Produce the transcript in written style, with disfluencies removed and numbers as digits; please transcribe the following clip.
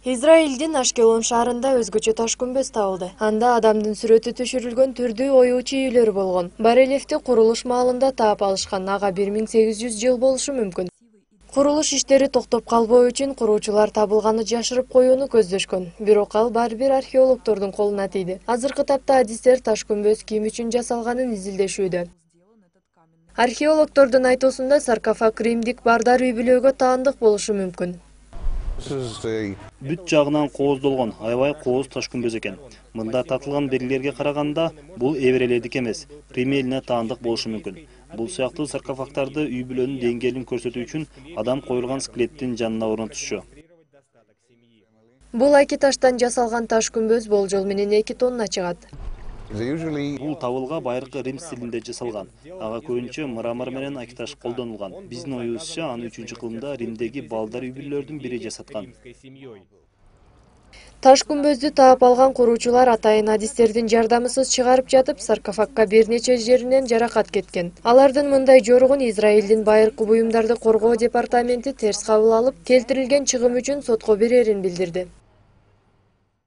Израилдин Ашкелон шаарында өзгөчө таш күмбөз табылды. Анда адамдын сүрөтү түшүрүлгөн түрдүү оюучу үйлөр болгон. Барельефти курулуш маалында таап алышкан, ага 1800 жыл болушу мүмкүн. Курулуш иштери токтоп калбоо үчүн куруучулар табылганы жашырып коюуну көздөшкөн. Бирок ал баары бир археологдордун колуна тийди. Азыркы тапта адистер таш күмбөз ким үчүн жасалганын изилдешүүдө. Археологдордун айтуусунда саркофаг римдик бардар үй-бүлөгө таандык болушу мүмкүн. Бүт жагынан кооздолгон, аябай кооз таш күмбөз экен. Мында татылган белгилерге караганда, бул эбрелердик эмес, Рим элине таандык болушу мүмкүн. Бул сыяктуу саркофагдарды үй-бүлөнүн деңгээлин көрсөтүү үчүн адам коюлган скелеттин жанына орнотушчу. Бул айки таштан жасалган таш күмбөз болжол менен 2 тонна чыгат. Бул табылга байыркы Рим стилинде жасалган. Ага көбүнчө мрамор менен айки таш колдонулган. Биздин оюбузча, аны 3-кылымда Римдеги балдар үй-бүлөлөрдүн бири жасаткан. Таш күмбөздү таап алган куруучулар атайын адистердин жардамысыз чыгарып жатып, саркофагга бир нече жеринен жаракат кеткен. Алардын мындай жоругун Израилдин байыркы буюмдарды коргоо департаменти терс кабыл алып, келтирилген чыгым үчүн сотко берерин билдирди.